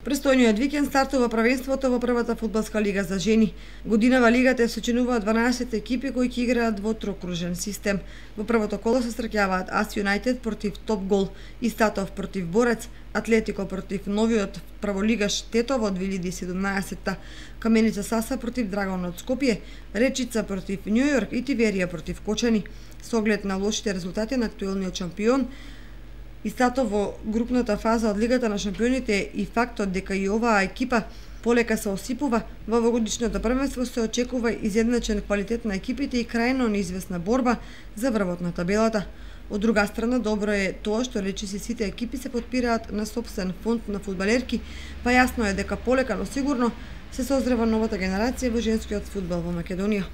Престојниот викенд стартува првенството во првата фудбалска лига за жени. Годинава лигата се сочинуваат 12 екипи кои ќе играат во трокружен систем. Во првото коло се среќаваат Ас Юнајтед против Топ Гол, Истатов против Борец, Атлетико против новиот праволигаш Тетово од 2017, Каменица Саса против Драгон од Скопје, Речица против Њујорк и Тиверија против Кочани. Со оглед на лошите резултати на актуелниот шампион, Истатов во групната фаза од Лигата на шампионите и фактот дека и оваа екипа полека се осипува, во овогодишното првенство се очекува изедначен квалитет на екипите и крајно неизвестна борба за врвот на табелата. Од друга страна, добро е тоа што речиси сите екипи се потпираат на сопствен фонд на фудбалерки, па јасно е дека полека но сигурно се созрева новата генерација во женскиот фудбал во Македонија.